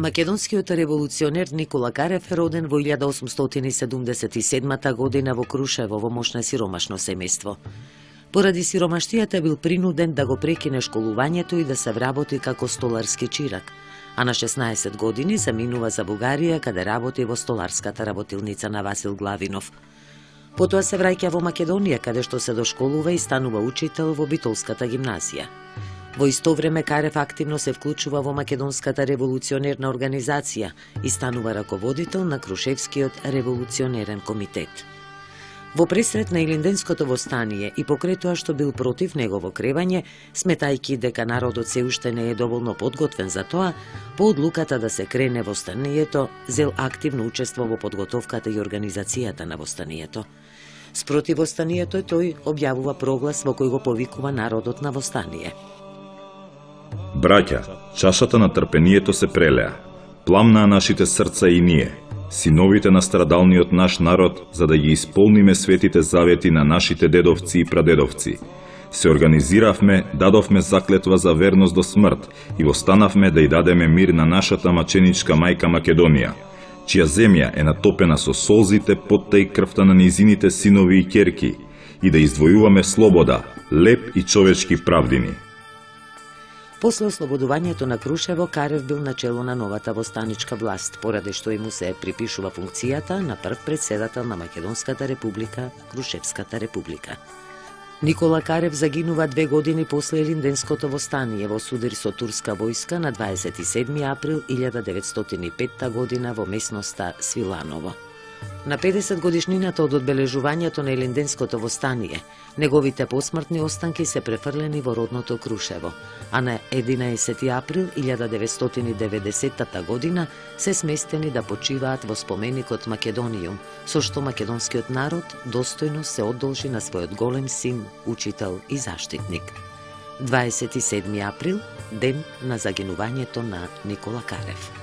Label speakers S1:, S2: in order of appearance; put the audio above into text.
S1: Македонскиот револуционер Никола Карев е роден во 1877 година во Крушево во моќ на сиромашно семејство. Поради сиромаштијата бил принуден да го прекине школувањето и да се вработи како столарски чирак, а на 16 години заминува за Бугарија, каде работи во столарската работилница на Васил Главинов. Потоа се враќа во Македонија, каде што се дошколува и станува учител во Битолската гимназија. Во исто време Карев активно се вклучува во Македонската револуционерна организација и станува раководител на Крушевскиот револуционерен комитет. Во пресрет на Илинденското востание и покрај тоа што бил против негово кревање, сметајќи дека народот се уште не е доволно подготвен за тоа, по одлуката да се крене востанието, зел активно учество во подготовката и организацијата на востанието. Спротив востанието тој објавува проглас во кој го повикува народот на востание.
S2: Браќа, чашата на трпението се прелеа. Пламнаа нашите срца и ние, синовите на страдалниот наш народ, за да ги исполниме светите завети на нашите дедовци и прадедовци. Се организиравме, дадовме заклетва за верност до смрт и востанавме да ја дадеме мир на нашата маченичка мајка Македонија, чија земја е натопена со солзите, потта и крвта на низините синови и ќерки, и да издвојуваме слобода, леп и човечки правдини.
S1: После ослободувањето на Крушево, Карев бил начело на новата востаничка власт, поради што и му се припишува функцијата на прв председател на Македонската република, Крушевската република. Никола Карев загинува 2 години после Илинденското востание во судар со турска војска на 27 април 1905 година во местноста Свиланово. На 50 годишнината од одбележувањето на Илинденското востание, неговите посмртни останки се префрлени во родното Крушево, а на 11 април 1990 година се сместени да почиваат во споменикот Македониум, со што македонскиот народ достојно се одолжи на својот голем син, учител и заштитник. 27 април, ден на загинувањето на Никола Карев.